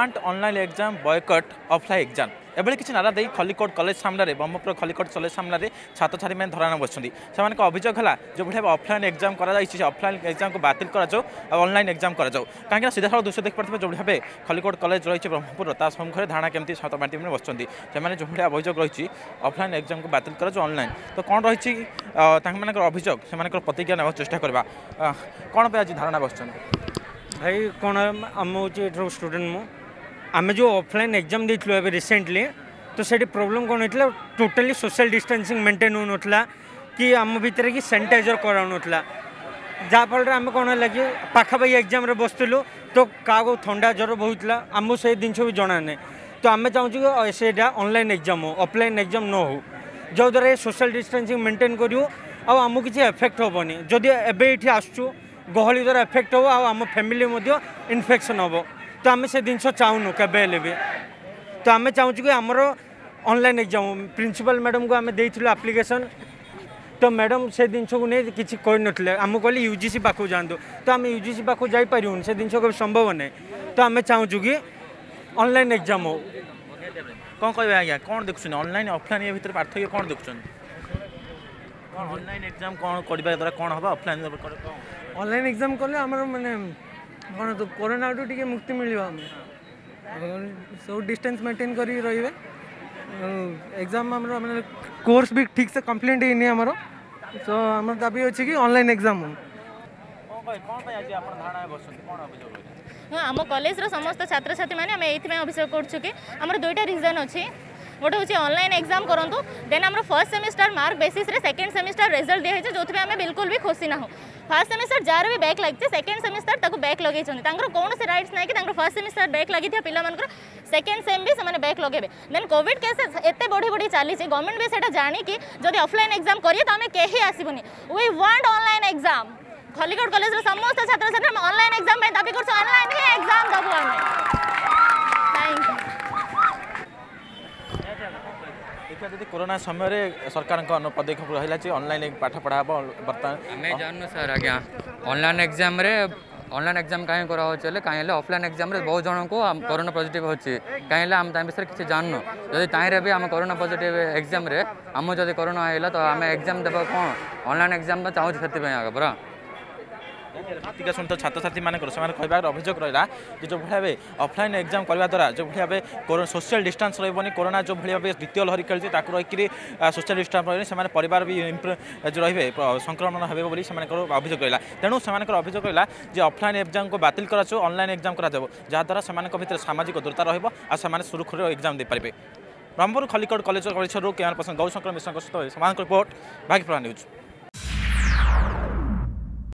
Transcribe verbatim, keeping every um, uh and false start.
Want online exam boycott offline exam ଏଭଳି କିଛି ନାରା ଦେଇ ଖଲିକୋଟ କଲେଜ ସାମ୍ନାରେ ବ୍ରହ୍ମପୁର ଖଲିକୋଟ କଲେଜ ସାମ୍ନାରେ ଛାତ୍ରଛାତ୍ରୀମାନେ ଧାରଣା ବସିଛନ୍ତି ସେମାନଙ୍କ ଅଭିଯୋଗ ହେଲା ଯେଉଁଭଳି ଭାବେ ଅଫଲାଇନ୍ ଏକ୍ଜାମ୍ କରାଯାଇଛି ସେ ଅଫଲାଇନ୍ ଏକ୍ଜାମ୍କୁ ବାତିଲ କରାଯାଉ ଆଉ ଅନଲାଇନ୍ ଏକ୍ଜାମ୍ କରାଯାଉ କାହିଁକିନା ସିଧାସଳଖ ଦୃଶ୍ୟ ଦେଖିପାରୁଥିବେ ଯେଉଁଭଳି ଭାବେ ଖଲିକୋଟ କଲେଜ ରହିଛି ବ୍ରହ୍ମପୁରର ତା ସମ୍ମୁଖରେ ଧାରଣା କେମିତି ଛାତ୍ରଛାତ୍ରୀମାନେ ବସିଛନ୍ତି ସେମାନେ ଯେଉଁଭଳି ଅଭିଯୋଗ ରହିଛି ଅଫଲାଇନ୍ ଏକ୍ଜାମ୍କୁ ବାତିଲ କରାଯାଉ ଅନଲାଇନ୍ ତ କ'ଣ ରହିଛି ତାଙ୍କମାନଙ୍କର ଅଭିଯୋଗ ସେମାନଙ୍କର ପ୍ରତିକ୍ରିୟା ନେବାକୁ ଚେଷ୍ଟା କରିବା କ'ଣ ପାଇଁ ଆଜି ଧାରଣା ବସିଛନ୍ତି ଭାଇ କ'ଣ ଆମ ହେଉଛି ଏଠାର ଷ୍ଟୁଡେଣ୍ଟ ମୁଁ ଆମେ ଯେଉଁ ଅଫଲାଇନ୍ ଏକ୍ଜାମ୍ ଦେଇଥିଲୁ ଏବେ ରିସେଣ୍ଟଲି ତ ସେଠି ପ୍ରୋବ୍ଲେମ୍ କ'ଣ ହେଇଥିଲା ଟୋଟାଲି ସୋସିଆଲ୍ ଡିଷ୍ଟାନ୍ସିଂ ମେଣ୍ଟେନ୍ ହେଉନଥିଲା କି ଆମ ଭିତରେ କି ସାନିଟାଇଜର୍ କରାହେଉନଥିଲା ଯାହାଫଳରେ ଆମେ କ'ଣ ହେଲା କି ପାଖାପାଖି ଏକ୍ଜାମ୍ରେ ବସିଥିଲୁ ତ କାହାକୁ ଥଣ୍ଡା ଜ୍ୱର ବହୁଥିଲା ଆମକୁ ସେଇ ଜିନିଷ ବି ଜଣା ନାହିଁ ତ ଆମେ ଚାହୁଁଛୁ କି ସେଇଟା ଅନଲାଇନ୍ ଏକ୍ଜାମ୍ ହଉ ଅଫଲାଇନ୍ ଏକ୍ଜାମ୍ ନ ହଉ ଯେଉଁଦ୍ୱାରା ଏ ସୋସିଆଲ୍ ଡିଷ୍ଟାନ୍ସିଂ ମେଣ୍ଟେନ୍ କରିବୁ ଆଉ ଆମକୁ କିଛି ଏଫେକ୍ଟ ହେବନି ଯଦି ଏବେ ଏଇଠି ଆସୁଛୁ ଗହଳି ଦ୍ୱାରା ଏଫେକ୍ଟ ହେବ ଆଉ ଆମ ଫ୍ୟାମିଲି ମଧ୍ୟ ଇନଫେକ୍ସନ୍ ହେବ ତ ଆମେ ସେ ଜିନିଷ ଚାହୁଁନୁ କେବେ ହେଲେ ବି ତ ଆମେ ଚାହୁଁଛୁ କି ଆମର ଅନଲାଇନ୍ ଏକ୍ଜାମ୍ ପ୍ରିନ୍ସିପାଲ୍ ମ୍ୟାଡ଼ାମକୁ ଆମେ ଦେଇଥିଲୁ ଆପ୍ଲିକେସନ୍ ତ ମ୍ୟାଡ଼ାମ୍ ସେ ଜିନିଷକୁ ନେଇ କିଛି କହିନଥିଲେ ଆମକୁ କହିଲେ ୟୁ ଜି ସି ପାଖକୁ ଯାଆନ୍ତୁ ତ ଆମେ ୟୁ ଜି ସି ପାଖକୁ ଯାଇପାରିବୁନି ସେ ଜିନିଷ କେବେ ସମ୍ଭବ ନାହିଁ ତ ଆମେ ଚାହୁଁଛୁ କି ଅନଲାଇନ୍ ଏକ୍ଜାମ୍ ହଉ କ'ଣ କହିବେ ଆଜ୍ଞା କ'ଣ ଦେଖୁଛନ୍ତି ଅନଲାଇନ୍ ଅଫଲାଇନ୍ ଏ ଭିତରେ ପାର୍ଥକ୍ୟ କ'ଣ ଦେଖୁଛନ୍ତି କ'ଣ ଅନଲାଇନ୍ ଏକ୍ଜାମ୍ କ'ଣ କରିବା ଦ୍ୱାରା କ'ଣ ହେବ ଅଫଲାଇନ୍ କ'ଣ ଅନଲାଇନ୍ ଏକ୍ଜାମ୍ କଲେ ଆମର ମାନେ କ'ଣ ତ କରୋନାଠୁ ଟିକେ ମୁକ୍ତି ମିଳିବ ଆମେ ସବୁ ଡିଷ୍ଟାନ୍ସ ମେଣ୍ଟେନ୍ କରିକି ରହିବେ ଏକ୍ଜାମ୍ ଆମର ମାନେ କୋର୍ସ ବି ଠିକ୍ ସେ କମ୍ପ୍ଲିଟ୍ ହେଇନି ଆମର ତ ଆମର ଦାବି ଅଛି କି ଅନଲାଇନ୍ ଏକ୍ଜାମ୍ ହଉ କ'ଣ କହିବେ କ'ଣ ପାଇଁ ଆଜି ଆପଣ ଧାରଣାରେ ବସିଛନ୍ତି କ'ଣ ଅଭିଯୋଗ ରହିଛି ହଁ ଆମ କଲେଜର ସମସ୍ତ ଛାତ୍ରଛାତ୍ରୀମାନେ ଆମେ ଏଇଥିପାଇଁ ଅଭିଯୋଗ କରୁଛୁ କି ଆମର ଦୁଇଟା ରିଜନ୍ ଅଛି ଗୋଟେ ହେଉଛି ଅନଲାଇନ୍ ଏକ୍ଜାମ୍ କରନ୍ତୁ ଦେନ୍ ଆମର ଫର୍ଷ୍ଟ ସେମିଷ୍ଟାର ମାର୍କ ବେସିସ୍ରେ ସେକେଣ୍ଡ ସେମିଷ୍ଟାର ରେଜଲ୍ଟ ଦିଆହେଇଛି ଯେଉଁଥିପାଇଁ ଆମେ ବିଲକୁଲ ବି ଖୁସି ନାହୁଁ ଫାର୍ଷ୍ଟ ସେମିଷ୍ଟାର ଯାହାର ବି ବ୍ୟାକ୍ ଲାଗିଛି ସେକେଣ୍ଡ ସେମିଷ୍ଟାର ତାକୁ ବ୍ୟାକ୍ ଲଗେଇଛନ୍ତି ତାଙ୍କର କୌଣସି ରାଇଟ୍ସ ନାହିଁ କି ତାଙ୍କର ଫାର୍ଷ୍ଟ ସେମିଷ୍ଟାର ବ୍ୟାକ୍ ଲାଗିଥିବା ପିଲାମାନଙ୍କର ସେକେଣ୍ଡ ସେମ୍ ବି ସେମାନେ ବ୍ୟାକ୍ ଲଗେଇବେ ଦେନ୍ କୋଭିଡ଼ କେସ୍ ଏତେ ବଢ଼ି ବଢ଼ି ଚାଲିଛି ଗଭର୍ଣ୍ଣମେଣ୍ଟ ବି ସେଇଟା ଜାଣିକି ଯଦି ଅଫଲାଇନ୍ ଏକ୍ଜାମ୍ କରିବେ ତ ଆମେ କେହି ଆସିବୁନି We want online exam Khallikote କଲେଜର ସମସ୍ତ ଛାତ୍ରଛାତ୍ରୀ ଆମେ ଅନଲାଇନ୍ ଏକ୍ଜାମ୍ ପାଇଁ ଦାବି କରୁଛୁ ଅନଲାଇନ୍ ହିଁ ଏକ୍ଜାମ୍ ଦେବୁ ଆମେ thank you ଦେଖିବା ଯଦି କରୋନା ସମୟରେ ସରକାରଙ୍କ ପଦକ୍ଷେପ ରହିଲା ଯେ ଅନଲାଇନ୍ ପାଠ ପଢ଼ା ହେବ ବର୍ତ୍ତମାନ ଆମେ ଜାଣୁନୁ ସାର୍ ଆଜ୍ଞା ଅନଲାଇନ୍ ଏକ୍ଜାମ୍ରେ ଅନଲାଇନ୍ ଏକ୍ଜାମ୍ କାହିଁ କରାହେଉଛି ହେଲେ କାହିଁ ହେଲେ ଅଫଲାଇନ୍ ଏକ୍ଜାମ୍ରେ ବହୁତ ଜଣଙ୍କୁ କରୋନା ପଜିଟିଭ୍ ଅଛି କାହିଁ ହେଲେ ଆମେ ତା ବିଷୟରେ କିଛି ଜାଣୁନୁ ଯଦି ତାହିଁରେ ବି ଆମ କରୋନା ପଜିଟିଭ୍ ଏକ୍ଜାମ୍ରେ ଆମକୁ ଯଦି କରୋନା ହେଇଲା ତ ଆମେ ଏକ୍ଜାମ୍ ଦେବା କ'ଣ ଅନଲାଇନ୍ ଏକ୍ଜାମ୍ ତ ଚାହୁଁଛୁ ସେଥିପାଇଁ ଆଗ ପରା ପ୍ରତିକ୍ରିୟା ଶୁଣିତ ଛାତ୍ରଛାତ୍ରୀମାନଙ୍କର ସେମାନେ କହିବାର ଅଭିଯୋଗ ରହିଲା ଯେ ଯେଉଁଭଳି ଭାବେ ଅଫଲାଇନ୍ ଏକ୍ଜାମ୍ କରିବା ଦ୍ୱାରା ଯେଉଁଭଳି ଭାବେ ସୋସିଆଲ ଡିଷ୍ଟାନ୍ସ ରହିବନି କରୋନା ଯେଉଁଭଳି ଭାବେ ଦ୍ୱିତୀୟ ଲହରୀ ଖେଳିଛି ତାକୁ ରହିକରି ସୋସିଆଲ ଡିଷ୍ଟାନ୍ସ ରହିବନି ସେମାନେ ପରିବାର ବି ଯେଉଁ ରହିବେ ସଂକ୍ରମଣ ହେବେ ବୋଲି ସେମାନଙ୍କର ଅଭିଯୋଗ ରହିଲା ତେଣୁ ସେମାନଙ୍କର ଅଭିଯୋଗ ରହିଲା ଯେ ଅଫଲାଇନ୍ ଏକ୍ଜାମ୍କୁ ବାତିଲ କରାଯାଉ ଅନଲାଇନ୍ ଏକ୍ଜାମ୍ କରାଯାଉ ଯାହାଦ୍ୱାରା ସେମାନଙ୍କ ଭିତରେ ସାମାଜିକ ଦୂରତା ରହିବ ଆଉ ସେମାନେ ସୁରୁଖୁରୁରେ ଏକ୍ଜାମ୍ ଦେଇପାରିବେ ବ୍ରହ୍ମପୁର ଖଲିକୋଟ କଲେଜ ପରିସରରୁ କ୍ୟାମେରା ପର୍ସନ ଗୌଶଙ୍କର ମିଶ୍ରଙ୍କ ସହିତ ସେମାନଙ୍କ ରିପୋର୍ଟ ଭାଗ୍ୟପ୍ରଭା ନ୍ୟୁଜ୍